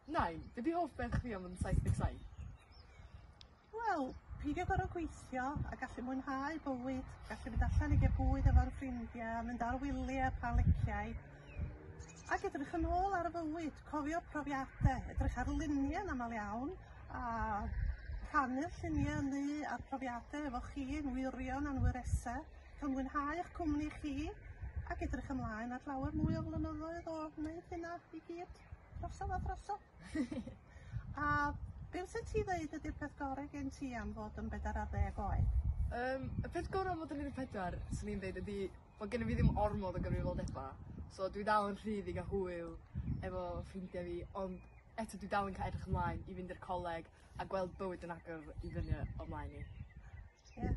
Nain, be' 'di hoff beth chdi am fod yn 77? Wel, peidio gor'o' gweithio a gallu mwynhau bywyd, gallu mynd allan i ga'l bwyd efo'r ffrindia, mynd ar wylia pan leciai, ac edrych yn ôl ar y fywyd, cofio profiade, edrych ar lunie yn amal iawn, a rhannu'r llunie 'ynny a'r profiade efo chi'n wyrion a'n wyrese, cael mwynhau 'ych cwmni chi, ac edrych ymlaen at lawer mwy o flynyddoedd o wneud hynna i gyd. Drosodd a drosodd. A be' fysa ti ddeud ydi'r peth gore gen ti am fod yn bedar ar ddeg oed? Yym, y peth gora' am fod yn 14, swn i'n deud ydi bo' gennyn fi ddim ormod o gyfrifoldeba', so dwi dal yn rhydd i ga'l hwyl efo ffrindia fi, ond eto dwi dal yn ca' edrych ymlaen i fynd i'r coleg a gweld bywyd yn agor i fyny o mlaen i. Ie.